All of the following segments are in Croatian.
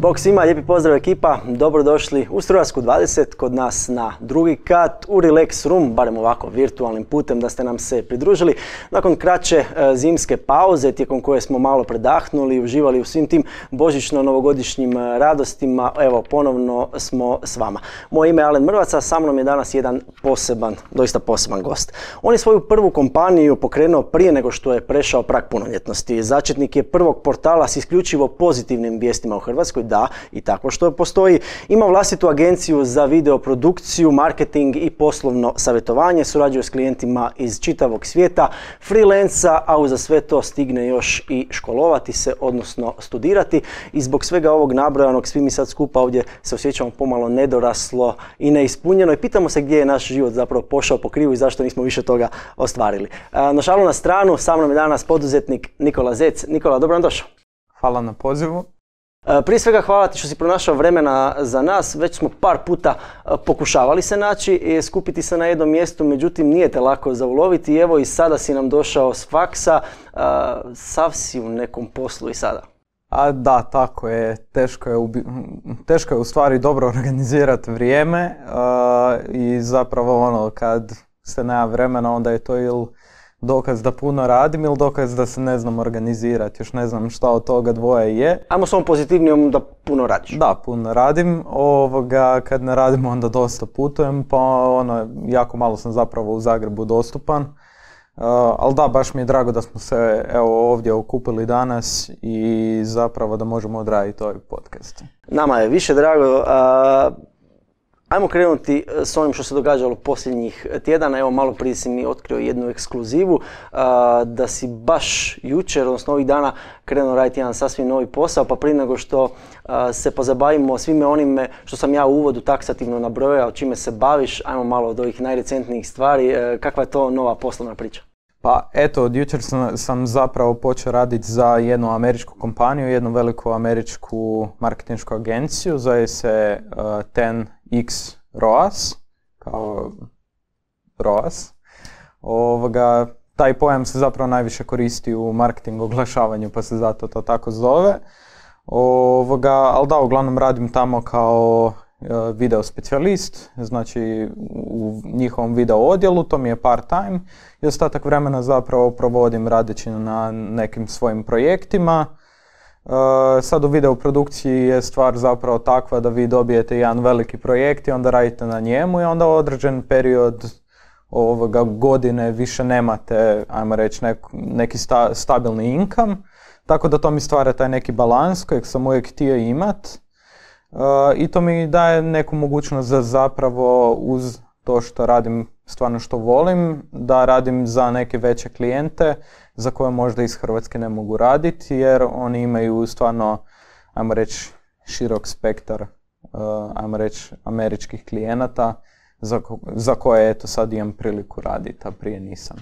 Bog svima, lijepi pozdrav ekipa, dobrodošli u Strujarsku 20, kod nas na drugi kat u Relax Room, barem ovako virtualnim putem da ste nam se pridružili. Nakon kraće zimske pauze, tijekom koje smo malo predahnuli, uživali u svim tim božićno-novogodišnjim radostima, evo ponovno smo s vama. Moje ime je Alen Mrvac, a sa mnom je danas jedan doista poseban gost. On je svoju prvu kompaniju pokrenuo prije nego što je prešao prag punoljetnosti. Začetnik je prvog portala s isključivo pozitivnim vijestima u Hrvatskoj, da, i tako što postoji. Ima vlastitu agenciju za videoprodukciju, marketing i poslovno savjetovanje, surađuje s klijentima iz čitavog svijeta, freelanca, a uza sve to stigne još i školovati se, odnosno studirati. I zbog svega ovog nabrojanog, svi mi sad skupa ovdje se osjećamo pomalo nedoraslo i neispunjeno i pitamo se gdje je naš život zapravo pošao po krivu i zašto nismo više toga ostvarili. No šalu na stranu, sa mnom je danas poduzetnik Nikola Zec. Nikola, dobro nam došao. Hvala na pozivu. Prije svega hvala ti što si pronašao vremena za nas, već smo par puta pokušavali se naći i skupiti se na jednom mjestu, međutim nije te lako zauloviti. Evo i sada si nam došao s faksa, sav si u nekom poslu i sada. Da, tako je. Teško je u stvari dobro organizirati vrijeme i zapravo kad se nema vremena onda je to ili dokaz da puno radim ili dokaz da se ne znam organizirati, još ne znam šta od toga dvoje je. Ajmo s ovom pozitivnijom da puno radiš. Da, puno radim. Kad ne radim onda dosta putujem, pa jako malo sam zapravo u Zagrebu dostupan. Ali da, baš mi je drago da smo se ovdje okupili danas i zapravo da možemo odraditi ovaj podcast. Nama je više drago. Ajmo krenuti s onim što se događalo posljednjih tjedana. Evo malo prije si mi otkrio jednu ekskluzivu da si baš jučer, odnosno ovih dana, krenuo raditi jedan sasvim novi posao, pa prije nego što se pozabavimo svime onime što sam ja u uvodu taksativno nabrojao, čime se baviš, ajmo malo od ovih najrecentnijih stvari. Kakva je to nova poslovna priča? Pa eto, od jučer sam zapravo počeo raditi za jednu američku kompaniju, jednu veliku američku marketinšku agenciju, zove se 10X ROAS, kao ROAS. Taj pojam se zapravo najviše koristi u marketingu oglašavanju, pa se zato to tako zove. Ali da, uglavnom radim tamo kao video specijalist, znači u njihovom video odjelu, to mi je part time i ostatak vremena zapravo provodim radeći na nekim svojim projektima. Sad u videoprodukciji je stvar zapravo takva da vi dobijete jedan veliki projekt i onda radite na njemu i onda određen period godine više nemate, ajmo reći, neki stabilni income, tako da to mi stvara taj neki balans kojeg sam uvijek htio imat. I to mi daje neku mogućnost da zapravo uz to što radim stvarno što volim, da radim za neke veće klijente za koje možda iz Hrvatske ne mogu raditi jer oni imaju stvarno, ajmo reći, širok spektar, ajmo reći, američkih klijenata za koje eto sad imam priliku raditi, a prije nisam.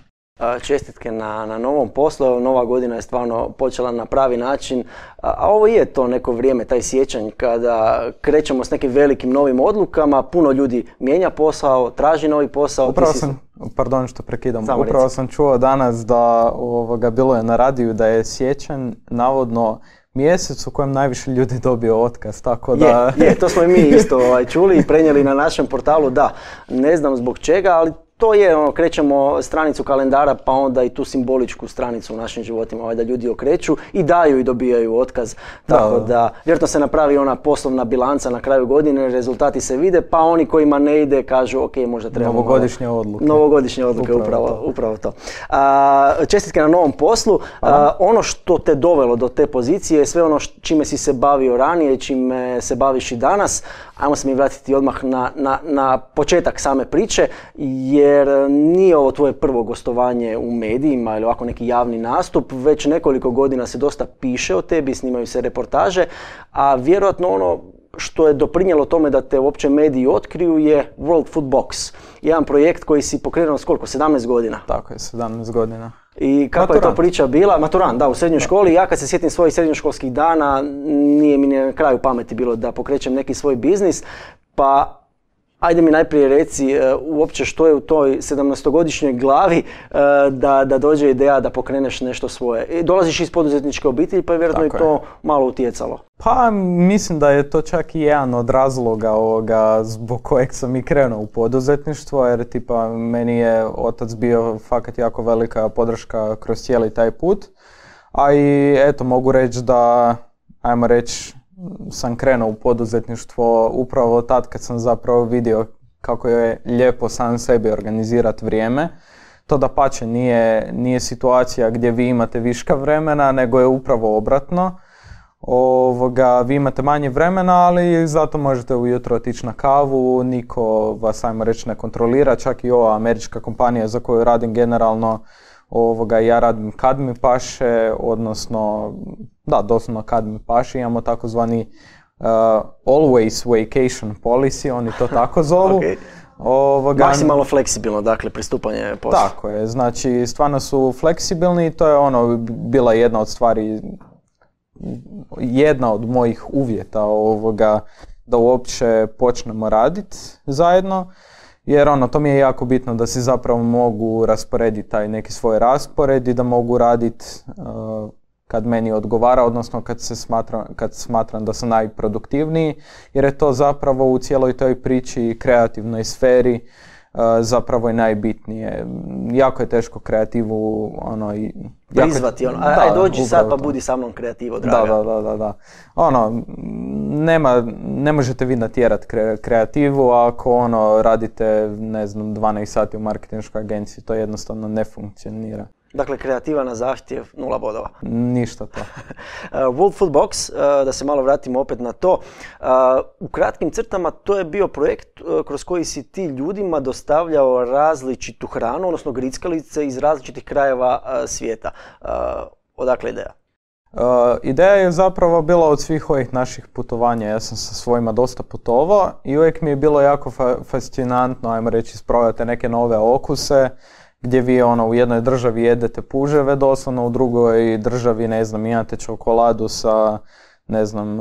Čestitke na novom poslu, nova godina je stvarno počela na pravi način, a ovo je to neko vrijeme, taj siječanj kada krećemo s nekim velikim novim odlukama, puno ljudi mijenja posao, traži novi posao. Pardon što prekidam, upravo sam čuo danas da bilo je na radiju da je siječanj navodno mjesec u kojem najviše ljudi dobio otkaz, tako da... To smo i mi isto čuli i prenijeli na našem portalu, da, ne znam zbog čega, ali to je, krećemo stranicu kalendara pa onda i tu simboličku stranicu u našim životima da ljudi okreću i daju i dobijaju otkaz. Tako da, vjerojatno se napravi ona poslovna bilanca na kraju godine, rezultati se vide pa oni kojima ne ide kažu ok, možda trebamo... Novogodišnje odluke, upravo to. Čestitke na novom poslu. Ono što te dovelo do te pozicije je sve ono čime si se bavio ranije, čime se baviš i danas. Ajmo se mi vratiti odmah na početak same priče, jer nije ovo tvoje prvo gostovanje u medijima ili ovako neki javni nastup, već nekoliko godina se dosta piše o tebi, snimaju se reportaže, a vjerojatno ono što je doprinijelo tome da te uopće mediji otkriju je World Food Box, jedan projekt koji si pokrenuo s koliko, 17 godina? Tako je, 17 godina. I kakva je to priča bila? Maturant, da, u srednjoj školi. Ja kad se sjetim svojih srednjoškolskih dana, nije mi na kraju pameti bilo da pokrećem neki svoj biznis, pa Ajde mi najprije reci uopće što je u toj 17-godišnjoj glavi da dođe ideja da pokreneš nešto svoje. Dolaziš iz poduzetničke obitelji pa je vjerojatno i to malo utjecalo. Pa mislim da je to čak i jedan od razloga zbog kojeg sam i krenuo u poduzetništvo, jer tipa meni je otac bio fakat jako velika podrška kroz cijeli taj put. A i eto mogu reći da, ajmo reći, sam krenuo u poduzetništvo upravo tad kad sam zapravo vidio kako je lijepo sam sebi organizirati vrijeme. To dapače nije situacija gdje vi imate viška vremena, nego je upravo obratno. Vi imate manje vremena, ali zato možete ujutro otići na kavu, niko vas, ajmo reći, ne kontrolira, čak i ova američka kompanija za koju radim generalno, ja radim kad mi paše, odnosno, da, doslovno kad mi paše, imamo takozvani always vacation policy, oni to tako zovu. Okay. Maksimalno fleksibilno, dakle, pristupanje poslu. Tako je, znači stvarno su fleksibilni i to je bila jedna od stvari, jedna od mojih uvjeta da uopće počnemo raditi zajedno. Jer to mi je jako bitno da si zapravo mogu rasporediti taj neki svoj raspored i da mogu raditi kad meni odgovara, odnosno kad smatram da sam najproduktivniji, jer je to zapravo u cijeloj toj priči kreativnoj sferi zapravo i najbitnije. Jako je teško kreativu prizvati, aj dođi sad pa budi sa mnom kreativo, draga. Da. Ne možete vi natjerati kreativu ako radite, ne znam, 12 sati u marketinškoj agenciji, to jednostavno ne funkcionira. Dakle, kreativa na zahtjev, 0 bodova. Ništa to. World Food Box, da se malo vratimo opet na to. U kratkim crtama to je bio projekt kroz koji si ti ljudima dostavljao različitu hranu, odnosno grickalice iz različitih krajeva svijeta. Odakle ideja? Ideja je zapravo bila od svih ovih naših putovanja. Ja sam sa svojima dosta putovao i uvijek mi je bilo jako fascinantno, ajmo reći, isprobati neke nove okuse, gdje vi u jednoj državi jedete puževe doslovno, u drugoj državi, ne znam, imate čokoladu sa, ne znam,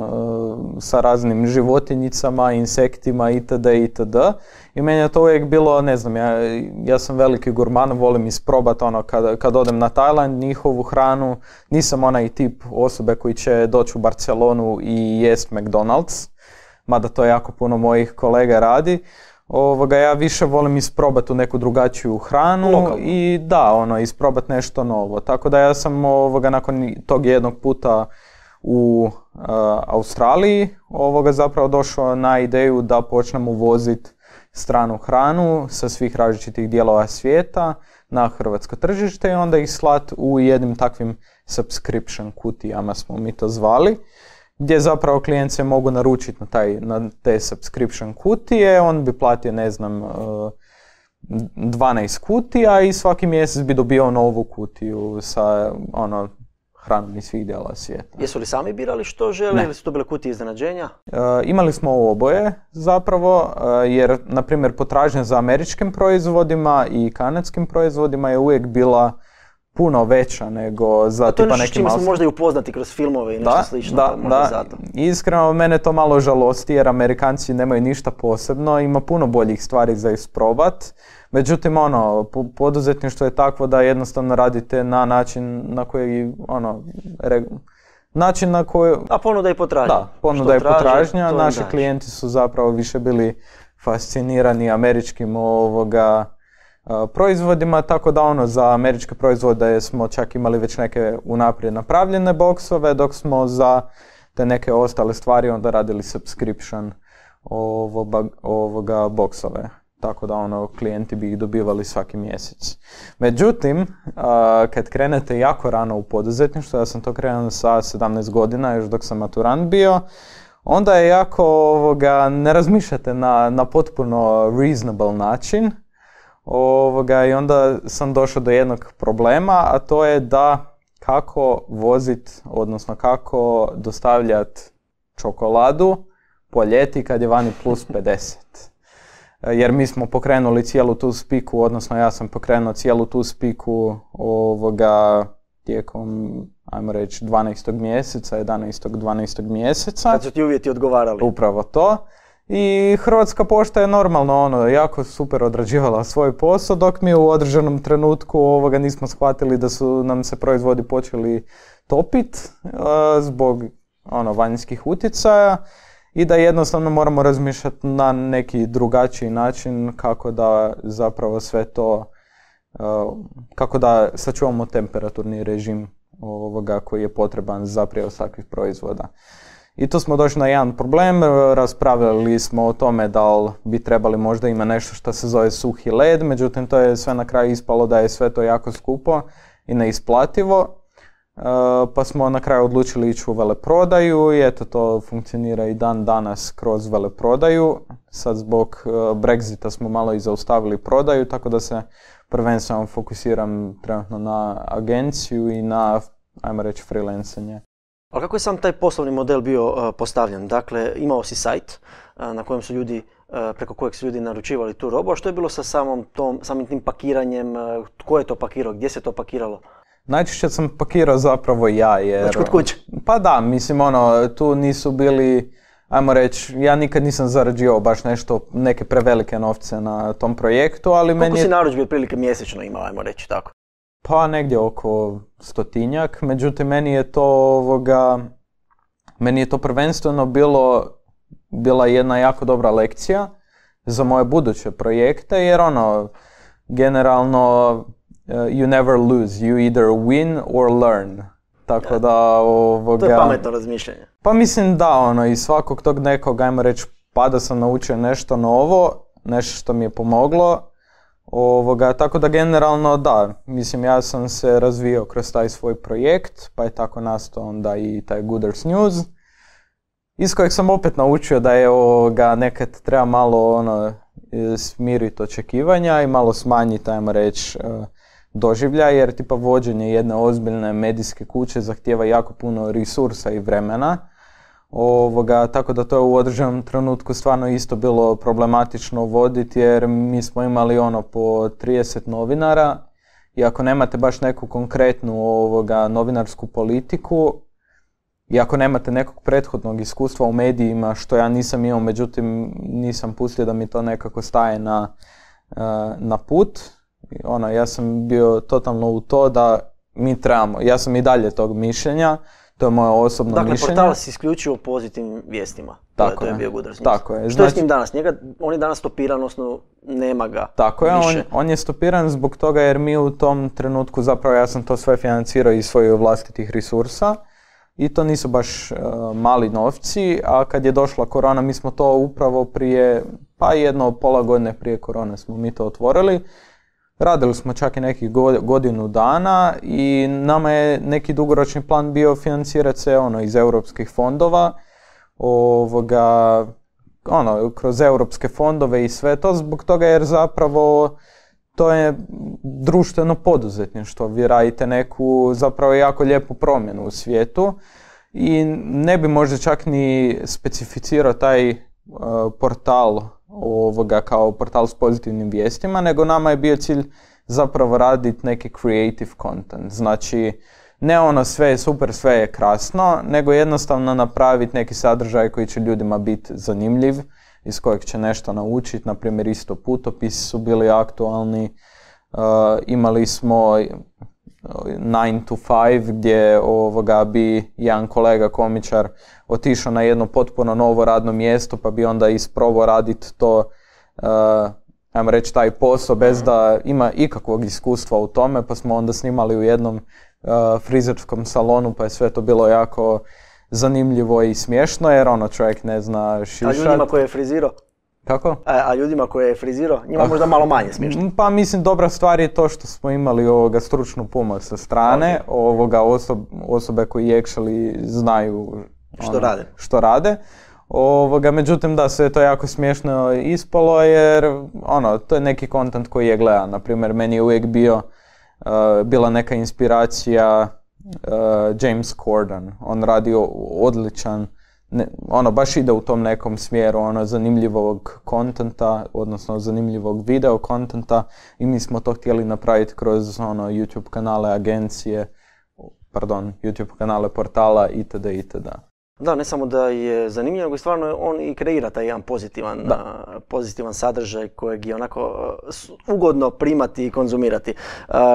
sa raznim životinjicama, insektima itd. I meni je to uvijek bilo, ne znam, ja sam veliki gurman, volim isprobati kad odem na Tajland, njihovu hranu, nisam onaj tip osobe koji će doći u Barcelonu i jest McDonald's, mada to jako puno mojih kolega radi. Ja više volim isprobati neku drugačiju hranu. Lokalno. I da, isprobati nešto novo. Tako da ja sam nakon tog jednog puta u Australiji zapravo došao na ideju da počnem uvoziti stranu hranu sa svih različitih dijelova svijeta na hrvatsko tržište i onda ih slati u jednim takvim subscription kutijama smo mi to zvali, gdje zapravo klijent se mogu naručiti na te subscription kutije, on bi platio, ne znam, 12 kutija i svaki mjesec bi dobio novu kutiju sa hranom iz svih dijela svijeta. Jesu li sami birali što žele ili su to bile kutije iznenađenja? Imali smo oboje zapravo, jer na primjer potražnja za američkim proizvodima i kanadskim proizvodima je uvijek bila puno veća nego za tipa nekim... To je nešto čime smo možda i upoznati kroz filmove i nešto slično. Da. Iskreno, mene to malo žalosti jer Amerikanci nemaju ništa posebno, ima puno boljih stvari za isprobat. Međutim, poduzetništvo je takvo da jednostavno radite na način na koji, način na koji... A ponuda i potražnja. Da, ponuda i potražnja. Naši klijenti su zapravo više bili fascinirani američkim proizvodima, tako da za američke proizvode smo čak imali već neke unaprijed napravljene boksove, dok smo za te neke ostale stvari onda radili subscription boksove. Tako da klijenti bi ih dobivali svaki mjesec. Međutim, kad krenete jako rano u poduzetništvo, ja sam to krenuo sa 17 godina, još dok sam maturant bio, onda je jako, ne razmišljate na potpuno reasonable način. I onda sam došao do jednog problema, a to je da kako vozit, odnosno kako dostavljati čokoladu po ljeti kad je vani plus 50. Jer mi smo pokrenuli cijelu tu spiku, odnosno ja sam pokrenuo cijelu tu spiku tijekom, ajmo reći, 12. mjeseca, 11. 12. mjeseca. Kad su ti uvjeti odgovarali. Upravo to. I Hrvatska pošta je normalno jako super odrađivala svoj posao, dok mi u određenom trenutku nismo shvatili da su nam se proizvodi počeli topit zbog vanjskih utjecaja i da jednostavno moramo razmišljati na neki drugačiji način kako da zapravo sve to, kako da sačuvamo temperaturni režim koji je potreban za prijevoz takvih proizvoda. I tu smo došli na jedan problem, raspravljali smo o tome da li bi trebali možda ima nešto što se zove suhi led, međutim to je sve na kraju ispalo da je sve to jako skupo i neisplativo, pa smo na kraju odlučili ići u veleprodaju i eto to funkcionira i dan danas kroz veleprodaju. Sad zbog Brexita smo malo i zaustavili prodaju, tako da se prvenstveno fokusiram trenutno na agenciju i na, ajmo reći, freelancanje. Ali kako je sam taj poslovni model bio postavljen? Dakle, imao si sajt na kojem su ljudi, preko kojeg su ljudi naručivali tu robu, a što je bilo sa samim tim pakiranjem, tko je to pakirao, gdje se to pakiralo? Najčešće sam pakirao zapravo ja, jer... Znači kod kuće? Pa da, mislim tu nisu bili, ajmo reći, ja nikad nisam zarađivao baš neke prevelike novce na tom projektu, ali meni je... Koliko si narudžbi otprilike mjesečno imao, ajmo reći tako? Pa negdje oko 100-tinjak, međutim meni je to prvenstveno bila jedna jako dobra lekcija za moje buduće projekte, jer generalno you never lose, you either win or learn. Tako da To je pametno razmišljanje. Pa mislim da iz svakog tog nekog, ajmo reći, pada sam naučio nešto novo, nešto što mi je pomoglo. Tako da generalno da, mislim ja sam se razvijao kroz taj svoj projekt, pa je tako nastao onda i taj Gooders News, iz kojeg sam opet naučio da je nekad treba malo smiriti očekivanja i malo smanjiti, ajmo reći, doživlja, jer tipa vođenje jedne ozbiljne medijske kuće zahtijeva jako puno resursa i vremena. Tako da to je u određenom trenutku stvarno isto bilo problematično voditi, jer mi smo imali po 30 novinara i ako nemate baš neku konkretnu novinarsku politiku i ako nemate nekog prethodnog iskustva u medijima, što ja nisam imao, međutim nisam pustio da mi to nekako staje na put. Ja sam bio totalno u to da mi trebamo, ja sam i dalje tog mišljenja, to je moje osobno mišljenje. Dakle, portal si isključio pozitivnim vijestima. Tako je bio Gooders News. Tako je. Što je s njim danas? On je danas stopiran, odnosno nema ga tako više. Je, on je stopiran zbog toga jer mi u tom trenutku, zapravo ja sam to sve financirao iz svojih vlastitih resursa i to nisu baš mali novci, a kad je došla korona mi smo to upravo prije, pa pola godine prije korone smo mi to otvorili. Radili smo čak i nekih godinu dana i nama je neki dugoročni plan bio financirati se iz europskih fondova, kroz europske fondove i sve to, zbog toga jer zapravo to je društveno poduzetništvo. Vi radite neku zapravo jako lijepu promjenu u svijetu i ne bi možda čak ni specificirao taj portal kao portal s pozitivnim vijestima, nego nama je bio cilj zapravo raditi neki creative content. Znači, ne sve je super, sve je krasno, nego jednostavno napraviti neki sadržaj koji će ljudima biti zanimljiv, iz kojeg će nešto naučiti. Naprimjer, isto putopisi su bili aktualni. Imali smo 9 to 5 gdje bi jedan kolega komičar otišao na jedno potpuno novo radno mjesto pa bi onda isprobao raditi to, ajmo reći, taj posao bez da ima ikakvog iskustva u tome, pa smo onda snimali u jednom frizerskom salonu pa je sve to bilo jako zanimljivo i smiješno jer čovjek ne zna šišat. A ljudima koje je frizirao? Kako? A ljudima koje je frizirao, njima možda malo manje smiješno. Pa mislim, dobra stvar je to što smo imali stručnu pomoć sa strane, osobe koji actually znaju što rade. Međutim, da, sve je to jako smiješno ispalo jer to je neki content koji je gledan. Naprimjer, meni je uvijek bila neka inspiracija James Corden. On radi odličan, baš ide u tom nekom smjeru zanimljivog kontenta, odnosno zanimljivog video kontenta i mi smo to htjeli napraviti kroz YouTube kanale agencije, YouTube kanale portala itd. Da, ne samo da je zanimljivo, nego stvarno on i kreira taj jedan pozitivan sadržaj kojeg je onako ugodno primati i konzumirati.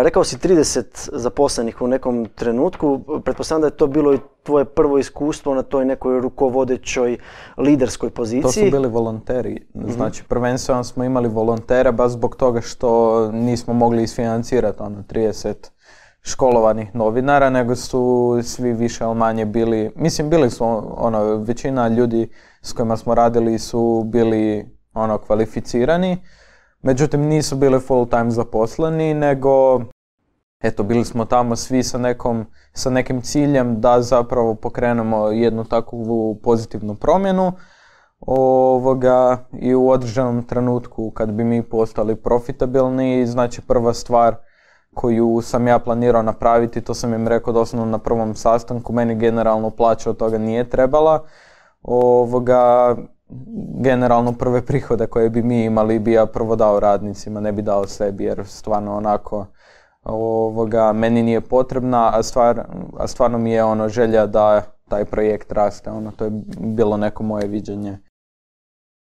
Rekao si 30 zaposlenih u nekom trenutku, pretpostavljam da je to bilo i tvoje prvo iskustvo na toj nekoj rukovodećoj liderskoj poziciji. To su bili volonteri, znači prvenstveno smo imali volontere baš zbog toga što nismo mogli isfinancirati 30 školovanih novinara, nego su svi više ili manje bili, mislim bili su većina ljudi s kojima smo radili su bili kvalificirani, međutim nisu bili full time zaposleni, nego eto bili smo tamo svi sa nekim ciljem da zapravo pokrenemo jednu takvu pozitivnu promjenu i u određenom trenutku kad bi mi postali profitabilni, znači prva stvar koju sam ja planirao napraviti, to sam im rekao doslovno na prvom sastanku, meni generalno plaća od toga nije trebala. Generalno prve prihode koje bi mi imali bi ja prvo dao radnicima, ne bi dao sebi jer stvarno onako meni nije potrebna, a stvarno mi je želja da taj projekt raste, to je bilo neko moje viđenje.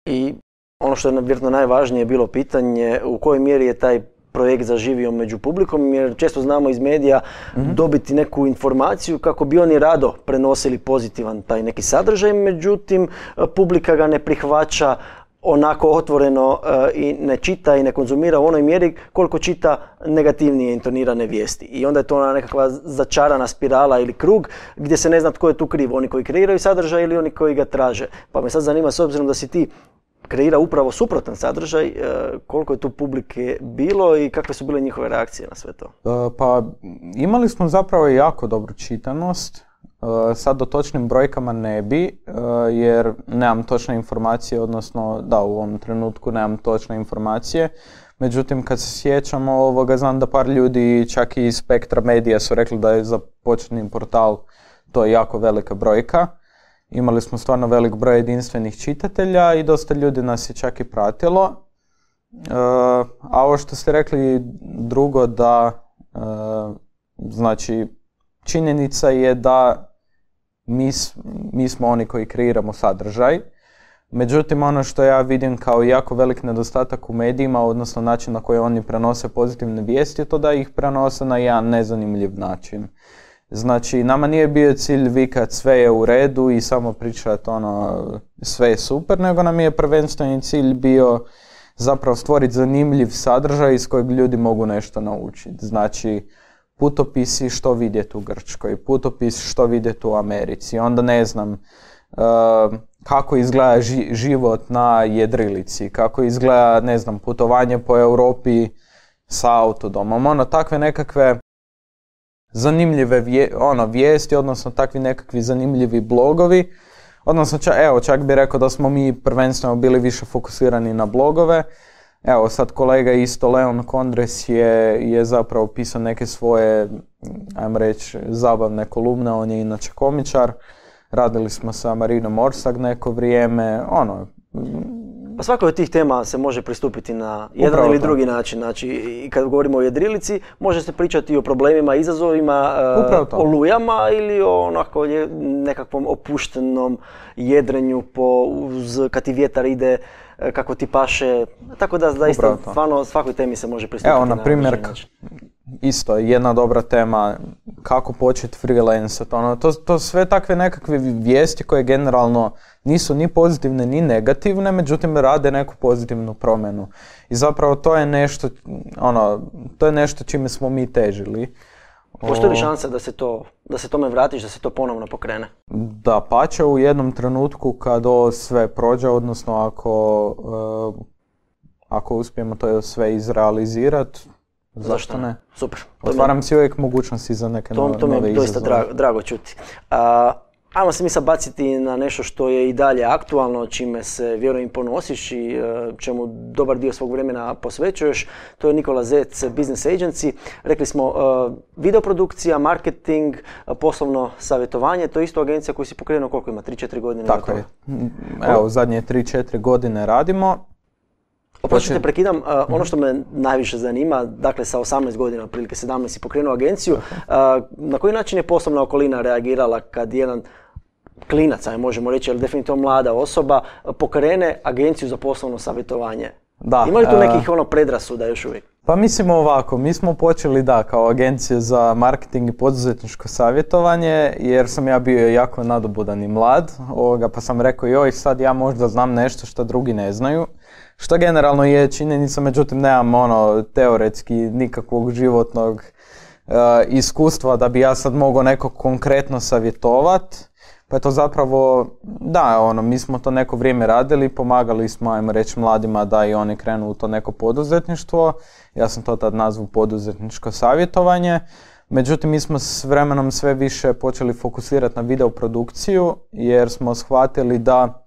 I ono što je vjerojatno najvažnije bilo pitanje, u kojoj mjeri je taj projekt zaživio među publikom, jer često znamo iz medija dobiti neku informaciju kako bi oni rado prenosili pozitivan taj neki sadržaj, međutim publika ga ne prihvaća onako otvoreno i ne čita i ne konzumira u onoj mjeri koliko čita negativnije intonirane vijesti. I onda je to ona nekakva začarana spirala ili krug gdje se ne zna tko je tu kriv, oni koji kreiraju sadržaj ili oni koji ga traže. Pa me sad zanima, s obzirom da si ti kreira upravo suprotan sadržaj, koliko je tu publike bilo i kakve su bile njihove reakcije na sve to? Pa imali smo zapravo jako dobru čitanost. Sad o točnim brojkama ne bi, jer nemam točne informacije, odnosno da, u ovom trenutku nemam točne informacije. Međutim, kad se sjećamo znam da par ljudi čak i iz Spektra Medija su rekli da je za početni portal to jako velika brojka. Imali smo stvarno velik broj jedinstvenih čitatelja i dosta ljudi nas je čak i pratilo. A ovo što ste rekli drugo da, znači, činjenica je da mi smo oni koji kreiramo sadržaj. Međutim, ono što ja vidim kao jako velik nedostatak u medijima, odnosno način na koji oni prenose pozitivne vijesti, je to da ih prenose na jedan nezanimljiv način. Znači, nama nije bio cilj vikat sve je u redu i samo pričati sve je super, nego nam je prvenstveni cilj bio zapravo stvoriti zanimljiv sadržaj iz kojeg ljudi mogu nešto naučiti. Znači, putopisi što vidjeti u Grčkoj, putopis što vidjeti u Americi, onda ne znam kako izgleda život na jedrilici, kako izgleda, ne znam, putovanje po Europi sa autodomom, takve nekakve zanimljive vijesti, odnosno takvi nekakvi zanimljivi blogovi. Odnosno, čak bih rekao da smo mi prvenstveno bili više fokusirani na blogove. Evo, sad kolega isto, Leon Kondres je zapravo pisao neke svoje, ajmo reći, zabavne kolumne, on je inače komičar. Radili smo sa Marinom Orsak neko vrijeme, Pa svakoj od tih tema se može pristupiti na jedan ili drugi način. Znači, i kad govorimo o jedrilici, može se pričati o problemima, izazovima, o lujama ili o nekakvom opuštenom jedrenju kad ti vjetar ide, kako ti paše. Tako da zaista stvarno svakoj temi se može pristupiti na primjer, način. Isto, jedna dobra tema, kako početi freelancati. To sve takve nekakve vijesti koje generalno nisu ni pozitivne ni negativne, međutim rade neku pozitivnu promjenu. I zapravo to je nešto čime smo mi težili. Postoji li šansa da se tome vratiš, da se to ponovno pokrene? Da, pače u jednom trenutku kad ovo sve prođe, odnosno ako uspijemo to sve izrealizirati, zašto ne? Super. Otvaram si uvijek mogućnosti za neke nove izazove. To mi je doista drago čuti. Ajmo se mi sad baciti na nešto što je i dalje aktualno, čime se vjerujem ponosiš i čemu dobar dio svog vremena posvećuješ. To je Nikola Zec Business Agency. Rekli smo videoprodukcija, marketing, poslovno savjetovanje. To je isto agencija koju si pokrenuo, koliko ima? 3-4 godine? Tako je. Evo, zadnje 3-4 godine radimo. Oprostite, prekidam. Ono što me najviše zanima, dakle sa 18 godina, otprilike 17 si pokrenuo agenciju, na koji način je poslovna okolina reagirala kad jedan klinac, možemo reći, ali definitivno mlada osoba, pokrene agenciju za poslovno savjetovanje? Da. Ima li tu nekih predrasuda još uvijek? Pa mislimo ovako, mi smo počeli kao agencija za marketing i poduzetničko savjetovanje, jer sam ja bio jako nadobudan i mlad, pa sam rekao joj sad ja možda znam nešto što drugi ne znaju, što generalno je činjenica, međutim nemam teoretski nikakvog životnog iskustva da bi ja sad mogao nekog konkretno savjetovat. Pa je to zapravo, mi smo to neko vrijeme radili, pomagali smo, ajmo reći, mladima da i oni krenu u to neko poduzetništvo. Ja sam to tad nazvao poduzetničko savjetovanje. Međutim, mi smo s vremenom sve više počeli fokusirati na video produkciju, jer smo shvatili da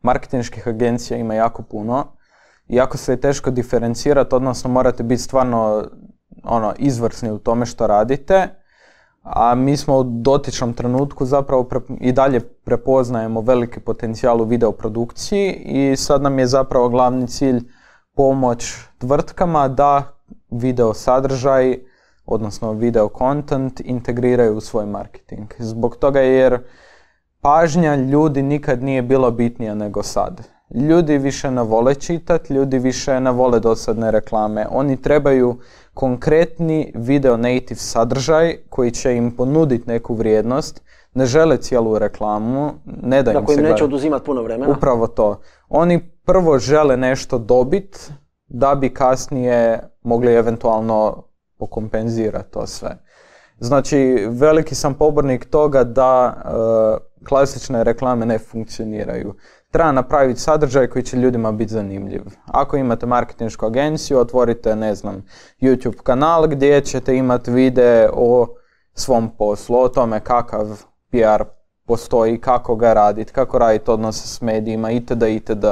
marketinških agencija ima jako puno. Jako se je teško diferencirati, odnosno morate biti stvarno izvrsni u tome što radite. A mi smo u dotičnom trenutku zapravo i dalje prepoznajemo veliki potencijal u videoprodukciji i sad nam je zapravo glavni cilj pomoć tvrtkama da video sadržaj, odnosno video content, integriraju u svoj marketing. Zbog toga jer pažnja ljudi nikad nije bila bitnija nego sad. Ljudi više ne vole čitati, ljudi više ne vole dosadne reklame. Oni trebaju konkretni video native sadržaj koji će im ponuditi neku vrijednost. Ne žele cijelu reklamu, ne da im se gleda. Neće oduzimati puno vremena. Upravo to. Oni prvo žele nešto dobiti da bi kasnije mogli eventualno pokompenzirati to sve. Znači, veliki sam pobornik toga da klasične reklame ne funkcioniraju. Treba napraviti sadržaj koji će ljudima biti zanimljiv. Ako imate marketinšku agenciju, otvorite, YouTube kanal gdje ćete imati videe o svom poslu, o tome kakav PR postoji, kako ga raditi, kako raditi odnose s medijima, itd. itd.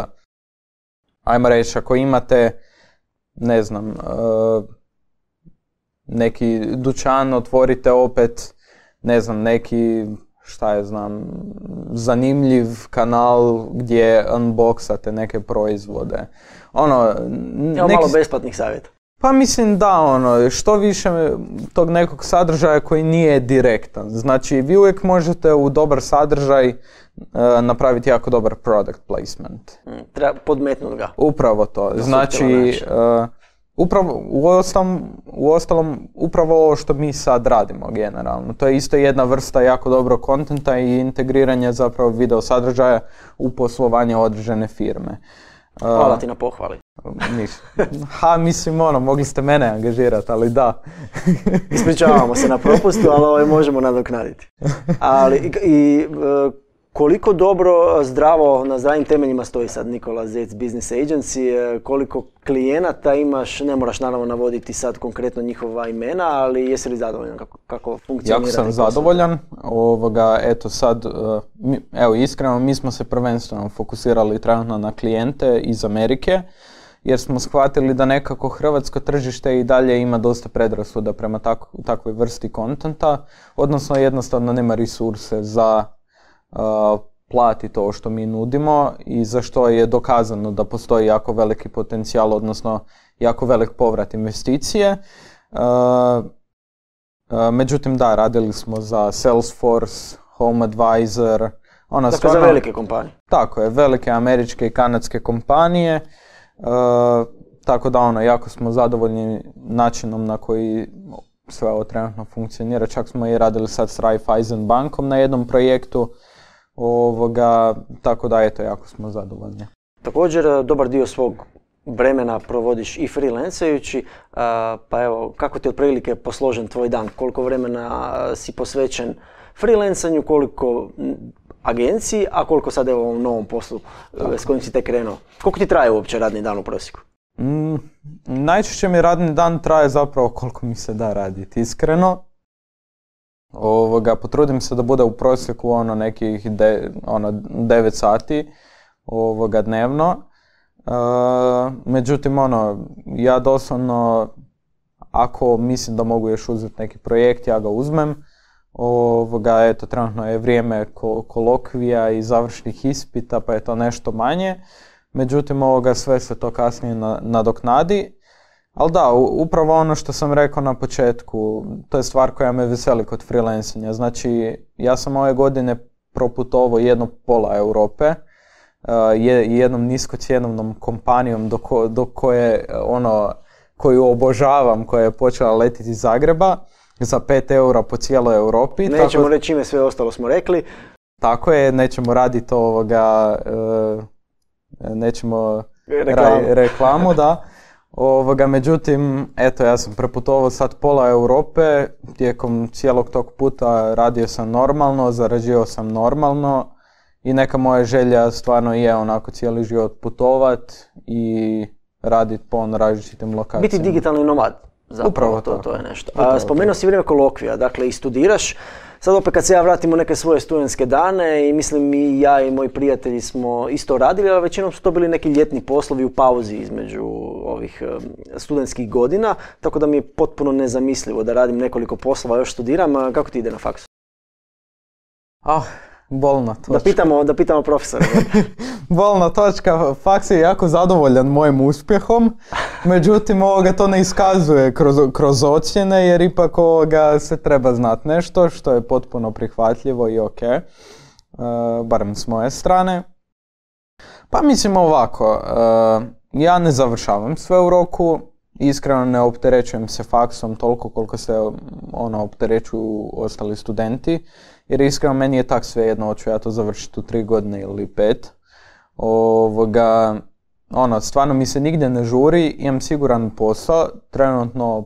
Ajmo reći, ako imate, neki dućan, otvorite opet, neki, zanimljiv kanal gdje unboxate neke proizvode. Malo besplatnih savjeta. Pa mislim što više tog nekog sadržaja koji nije direktan. Znači, vi uvijek možete u dobar sadržaj napraviti jako dobar product placement. Treba podmetnuti ga. Upravo to. Znači, uostalom, upravo ovo što mi sad radimo generalno. To je isto jedna vrsta jako dobrog kontenta i integriranja zapravo video sadržaja u poslovanje određene firme. Hvala ti na pohvali. Mislim, mogli ste mene angažirati, ali da. Ispričavamo se na propustu, ali možemo nadoknaditi. Koliko dobro, zdravo, na zdravim temeljima stoji sad Nikola Zec Business Agency, koliko klijenata imaš, ne moraš naravno navoditi sad konkretno njihova imena, ali jesi li zadovoljan kako funkcionira? Jako sam zadovoljan, iskreno mi smo se prvenstveno fokusirali trenutno na klijente iz Amerike, jer smo shvatili da nekako hrvatsko tržište i dalje ima dosta predrasuda prema takvoj vrsti kontenta, odnosno jednostavno nema resurse za plati to što mi nudimo i za što je dokazano da postoji jako veliki potencijal, odnosno jako velik povrat investicije. Međutim, radili smo za Salesforce, HomeAdvisor. Za velike kompanije. Tako je, velike američke i kanadske kompanije. Tako da jako smo zadovoljni načinom na koji sve ovo trenutno funkcionira. Čak smo i radili sad s Raiffeisen bankom na jednom projektu. Tako da jako smo zadovoljni. Također dobar dio svog vremena provodiš i freelancajući, pa evo, kako ti je otprilike posložen tvoj dan? Koliko vremena si posvećen freelancanju, koliko agenciji, a koliko sad evo ovom novom poslu s kojim si tek krenuo? Koliko ti traje uopće radni dan u prosjeku? Najčešće mi radni dan traje zapravo koliko mi se da raditi, iskreno. Potrudim se da bude u prosjeku nekih 9 sati dnevno. Međutim, ja doslovno, ako mislim da mogu još uzeti neki projekt, ja ga uzmem. Trenutno je vrijeme kolokvija i završnih ispita, pa je to nešto manje. Međutim, sve se to kasnije nadoknadi. Ali da, upravo ono što sam rekao na početku, to je stvar koja me veseli kod freelancanja. Znači, ja sam ove godine proputovao jedno pola Europe, jednom niskocjenovnom kompanijom do koje, koju obožavam, koja je počela letiti iz Zagreba za 5 eura po cijeloj Europi. Nećemo reći ime, sve ostalo smo rekli. Tako je, nećemo raditi nećemo reklamu, da. Međutim, eto, ja sam preputovao sad pola Europe, tijekom cijelog tog puta radio sam normalno, zarađivao sam normalno i neka moja želja stvarno je onako cijeli život putovat i raditi po različitim lokacijama. Biti digitalni nomad, zapravo. Upravo to je nešto. Spomenuo si vrijeme kolokvija, dakle i studiraš. Sad opet kad se ja vratim u neke svoje studentske dane i mislim i ja i moji prijatelji smo isto radili, ali većinom su to bili neki ljetni poslovi u pauzi između ovih studentskih godina, tako da mi je potpuno nezamislivo da radim nekoliko poslova, još studiram. Kako ti ide na faksu? Bolna točka. Da pitamo profesora. Bolna točka, faks je jako zadovoljan mojim uspjehom, međutim to ne iskazuje kroz ocjene jer ipak se treba znati nešto što je potpuno prihvatljivo i ok, barem s moje strane. Pa mislim ovako, ja ne završavam sve u roku, iskreno ne opterećujem se faksom toliko koliko se opterećuju ostali studenti, jer iskreno meni je tak svejedno, hoću ja to završiti u 3 godine ili 5. Stvarno mi se nigdje ne žuri, imam siguran posao, trenutno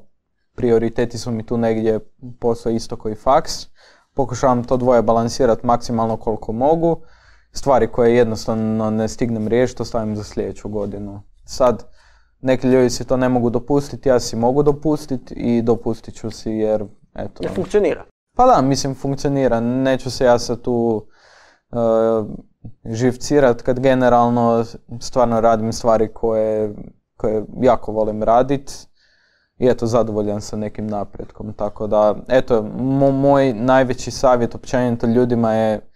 prioriteti su mi tu negdje posao isto koji faks, pokušavam to dvoje balansirati maksimalno koliko mogu, stvari koje jednostavno ne stignem riješiti, to stavim za sljedeću godinu. Sad, neki ljudi si to ne mogu dopustiti, ja si mogu dopustiti i dopustit ću si jer eto... Ne funkcionira. Pa da, mislim funkcionira, neću se ja sad tu živcirat kad generalno stvarno radim stvari koje jako volim radit i eto zadovoljan sa nekim napretkom, tako da eto moj najveći savjet općenito ljudima je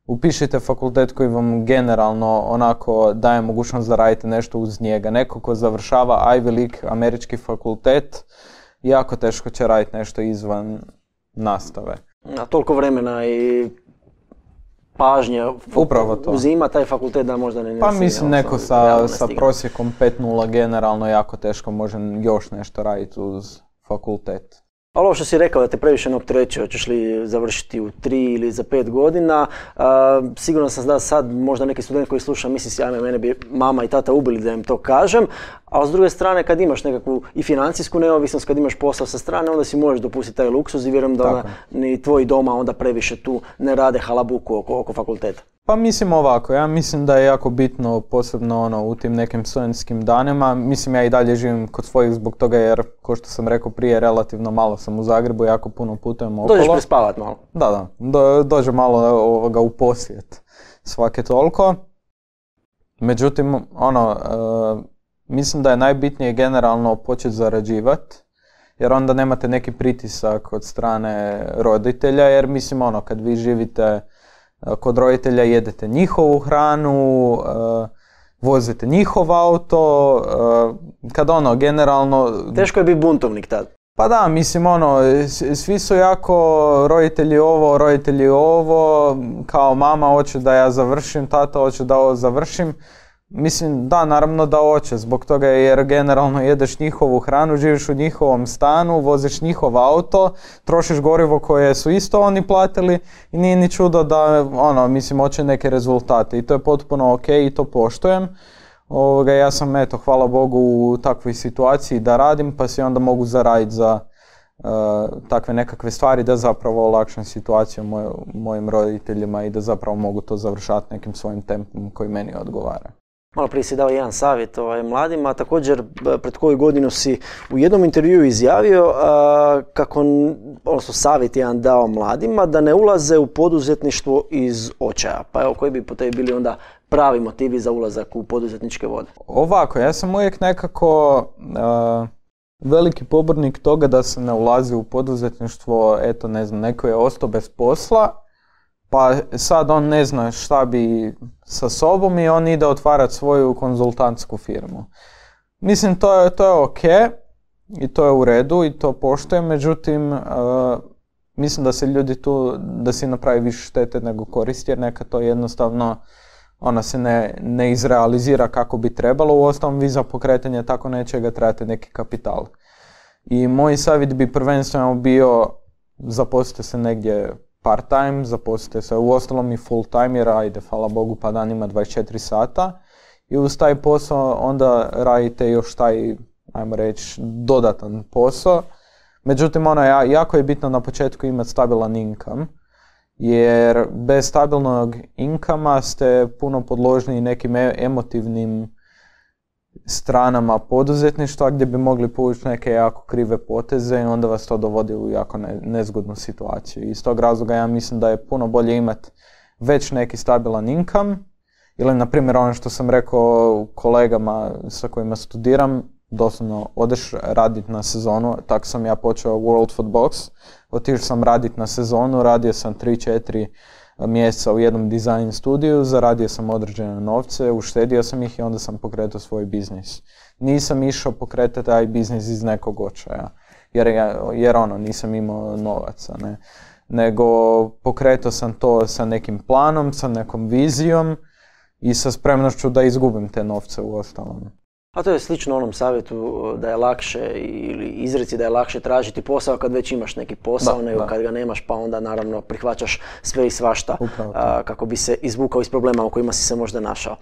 upišite fakultet koji vam generalno onako daje mogućnost da radite nešto uz njega. Neko ko završava Ivy League američki fakultet jako teško će raditi nešto izvan nastave. A toliko vremena i pažnje uzima taj fakultet da možda ne... Pa mislim neko sa prosjekom 5.0 generalno jako teško može još nešto raditi uz fakultet. Ali ovo što si rekao da te previše ne opterećuje, hoćeš li završiti u 3 ili za 5 godina, sigurno sam da sad možda neki student koji sluša misli si, ajme, mene bi mama i tata ubili da im to kažem, a s druge strane kad imaš nekakvu i financijsku neovisnost, kad imaš posao sa strane, onda si možeš dopustiti taj luksuz i vjerujem da ni tvoji doma onda previše tu ne rade halabuku oko fakulteta. Pa mislim ovako, ja mislim da je jako bitno, posebno u tim nekim studentskim danima, mislim ja i dalje živim kod svojih zbog toga jer, kao što sam rekao prije, relativno malo sam u Zagrebu, jako puno putujem okolo. Dođeš prespavat malo. Da, dođe malo u posjet svake toliko. Međutim, mislim da je najbitnije generalno početi zarađivati, jer onda nemate neki pritisak od strane roditelja, jer mislim kad vi živite kod roditelja jedete njihovu hranu, vozite njihov auto, kad generalno... Teško je biti buntovnik tad. Pa da, mislim svi su jako roditelji ovo, kao mama hoće da ja završim, tata hoće da ovo završim. Mislim, da, naravno da hoće, zbog toga jer generalno jedeš njihovu hranu, živiš u njihovom stanu, voziš njihov auto, trošiš gorivo koje su isto oni platili i nije ni čudo da, mislim, hoće neke rezultate i to je potpuno ok i to poštujem. Ja sam, hvala Bogu, u takvoj situaciji da radim, pa si onda mogu zaraditi za takve nekakve stvari da zapravo olakšam situaciju mojim roditeljima i da zapravo mogu to završati nekim svojim tempom koji meni odgovara. Malo prije si dao jedan savjet mladima, također pred koju godinu si u jednom intervjuu izjavio odnosno savjet jedan dao mladima da ne ulaze u poduzetništvo iz očaja. Pa evo, koji bi po tebi bili onda pravi motivi za ulazak u poduzetničke vode? Ovako, ja sam uvijek nekako veliki pobornik toga da se ne ulazi u poduzetništvo, neko je ostao bez posla, pa sad on ne zna šta bi sa sobom i on ide otvarati svoju konzultantsku firmu. Mislim, to je ok i to je u redu i to poštujem, međutim, mislim da se ljudi tu, da si napravi više štete nego koristi, jer nekad to jednostavno ona se ne izrealizira kako bi trebalo. Uostalom, vi za pokretanje tako nečega trebate neki kapital. I moj savjet bi prvenstveno bio zaposlite se negdje part-time, zaposlite se uostalom i full-time, jer ajde, hvala Bogu, pa dan ima 24 sata. I uz taj posao onda radite još taj, ajmo reći, dodatan posao. Međutim, jako je bitno na početku imati stabilan income, jer bez stabilnog inkama ste puno podložni nekim emotivnim stranama poduzetništva gdje bi mogli povući neke jako krive poteze i onda vas to dovodi u jako nezgodnu situaciju. Iz tog razloga ja mislim da je puno bolje imati već neki stabilan income, ili na primjer ono što sam rekao kolegama sa kojima studiram, doslovno odeš raditi na sezonu, tako sam ja počeo World Food Box, otišao sam raditi na sezonu, radio sam 3-4 mjeseca u jednom dizajn studiju, zaradio sam određene novce, uštedio sam ih i onda sam pokretao svoj biznis. Nisam išao pokretati taj biznis iz nekog očaja, jer nisam imao novaca, ne. Nego pokretao sam to sa nekim planom, sa nekom vizijom i sa spremnošću da izgubim te novce u ostalom. A to je slično onom savjetu da je lakše ili izreci da je lakše tražiti posao kad već imaš neki posao, nego kad ga nemaš pa onda naravno prihvaćaš sve i svašta kako bi se izvukao iz problema u kojima si se možda našao.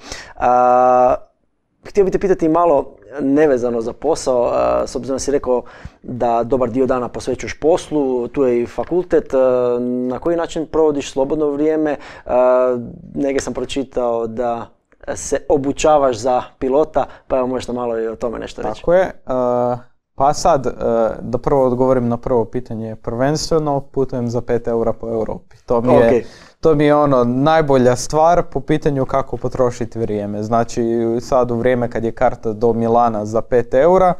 Htio bih te pitati malo nevezano za posao, s obzirom da si rekao da dobar dio dana posvećuješ poslu, tu je i fakultet, na koji način provodiš slobodno vrijeme? Negdje sam pročitao da se obučavaš za pilota, pa evo možeš malo i o tome nešto reći. Tako je. Pa sad, da prvo odgovorim na prvo pitanje. Prvenstveno putujem za 5 eura po Europi. To mi je najbolja stvar po pitanju kako potrošiti vrijeme. Znači sad u vrijeme kad je karta do Milana za 5 eura,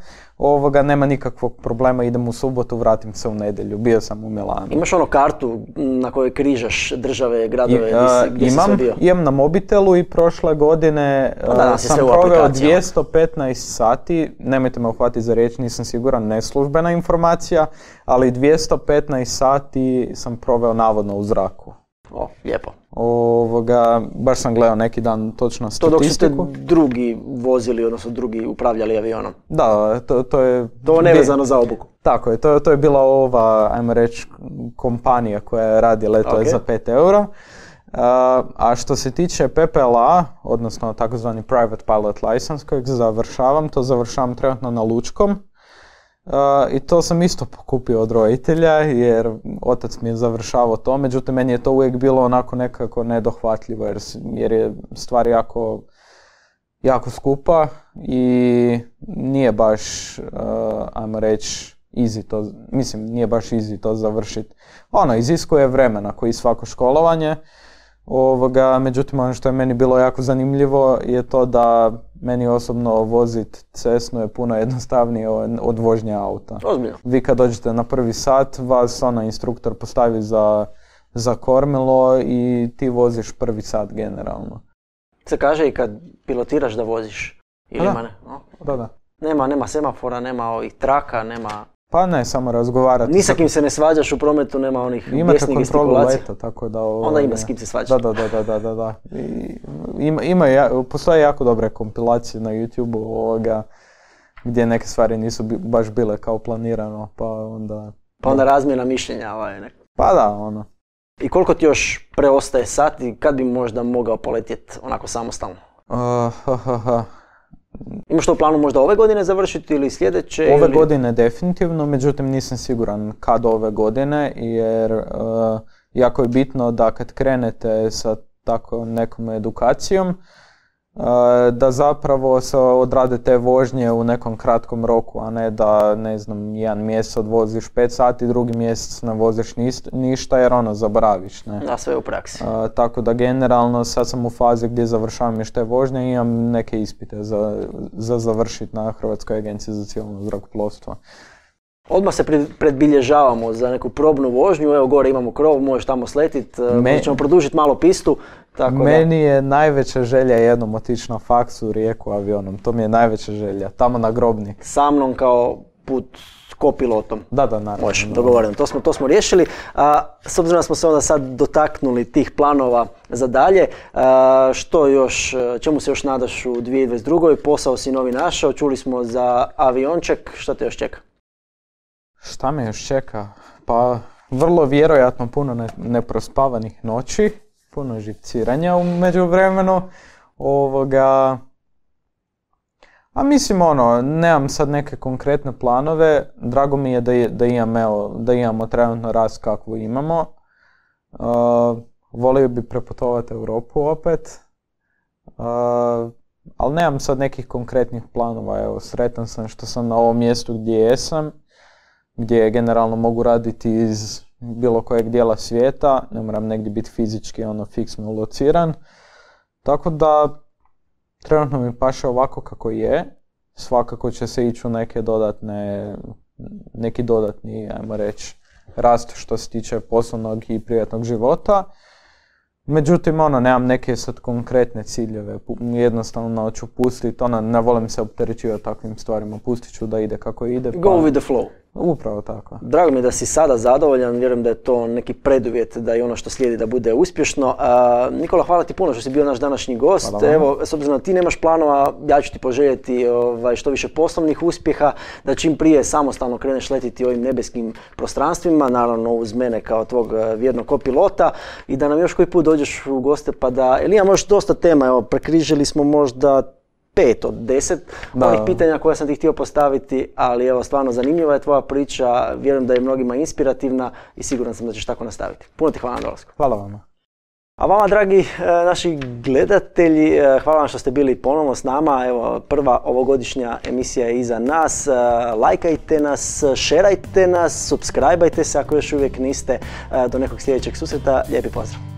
nema nikakvog problema, idem u subotu, vratim se u nedjelju, bio sam u Milanu. Imaš kartu na kojoj križaš države, gradove, gdje si sve bio? Imam na mobitelu i prošle godine sam proveo 215 sati, nemojte me uhvatiti za riječ, nisam siguran, neslužbena informacija, ali 215 sati sam proveo navodno u zraku. O, lijepo. Baš sam gledao neki dan točno statistiku. To dok su te drugi vozili, odnosno drugi upravljali avionom. Da, to je... To nevezano za obuku. Tako je, to je bila ova, ajmo reći, kompanija koja radi letove za 5 eura. A što se tiče PPLA, odnosno takozvani Private Pilot License kojeg završavam trenutno na Lučkom. I to sam isto pokupio od roditelja jer otac mi je završavao to, međutim meni je to uvijek bilo onako nekako nedohvatljivo jer je stvar jako skupa i nije baš, ajmo reći, nije baš easy to završiti. Iziskuje vremena koji svako školovanje. Međutim, ono što je meni bilo jako zanimljivo je to da meni osobno voziti cesnu je puno jednostavnije od vožnje auta. Ozbiljno. Vi kad dođete na prvi sat, vas instruktor postavi za kormilo i ti voziš prvi sat generalno. Se kaže i kad pilotiraš da voziš? Ili ima ne? Da. Nema semafora, nema ovih traka, nema... Pa ne, samo razgovarati. Ni sa kim se ne svađaš u prometu, nema onih bijesnih gestikulacija. Imate kontrolu leta, tako da... Onda ima s kim se svađaš. Da. Postoje jako dobre kompilacije na YouTube-u gdje neke stvari nisu baš bile kao planirano, pa onda... Pa onda razmjena mišljenja Pa da, I koliko ti još preostaje sati, kad bi možda mogao poletjeti onako samostalno? Imaš to u planu možda ove godine završiti ili sljedeće? Ove godine definitivno, međutim nisam siguran kad ove godine, jer jako je bitno da kad krenete sa tako nekom edukacijom, da zapravo se odrade te vožnje u nekom kratkom roku, a ne da, ne znam, jedan mjesec odvoziš 5 sati, drugi mjesec ne voziš ništa jer zaboraviš, ne? Da, sve u praksi. Tako da generalno sad sam u fazi gdje završavam još te vožnje i imam neke ispite za završiti na Hrvatskoj agenciji za civilno zrakoplovstvo. Odmah se predbilježavamo za neku probnu vožnju, evo gore imamo krov, možeš tamo sletiti, ćemo produžiti malo pistu. Meni je najveća želja jednom otići na faksu u Rijeku avionom, to mi je najveća želja, tamo na Grobnik. Sa mnom kao put s kopilotom. Da, naravno. Može, dogovoreno. To smo riješili. S obzirom da smo se onda sad dotaknuli tih planova za dalje, što još, čemu se još nadaš u 2022. Posao si novi našao, čuli smo za avionček, što te još čeka? Šta me još čeka? Pa vrlo vjerojatno puno neprospavanih noći, puno živciranja u međuvremenu. A mislim nemam sad neke konkretne planove, drago mi je da imamo trenutno rast kakvu imamo. Volio bi preputovati Europu opet, ali nemam sad nekih konkretnih planova. Evo, sretan sam što sam na ovom mjestu gdje jesam, gdje generalno mogu raditi iz bilo kojeg dijela svijeta, ne moram negdje biti fizički fiksno lociran. Tako da trenutno mi paše ovako kako je, svakako će se ići u neki dodatni, ajmo reći, rast što se tiče poslovnog i privatnog života. Međutim, nemam neke sad konkretne ciljeve, jednostavno ću pustiti, ne volim se opterećivati takvim stvarima, pustit ću da ide kako ide. Go with the flow. Upravo tako. Drago mi je da si sada zadovoljan, vjerujem da je to neki preduvjet da i ono što slijedi da bude uspješno. Nikola, hvala ti puno što si bio naš današnji gost. Evo, s obzirom da ti nemaš planova, ja ću ti poželjeti što više poslovnih uspjeha, da čim prije samostalno kreneš letiti ovim nebeskim prostranstvima, naravno uz mene kao tvog vjernog kopilota, i da nam još koji put dođeš u goste pa da, jer imamo još dosta tema, evo, prekrižili smo možda 5 od 10 ovih pitanja koja sam ti htio postaviti, ali evo, stvarno zanimljiva je tvoja priča, vjerujem da je mnogima inspirativna i siguran sam da ćeš tako nastaviti. Puno ti hvala na dolasku. Hvala vama. A vama, dragi naši gledatelji, hvala vam što ste bili ponovno s nama. Evo, prva ovogodišnja emisija je iza nas. Lajkajte nas, šerajte nas, subscribeajte se ako još uvijek niste. Do nekog sljedećeg susreta. Lijepi pozdrav.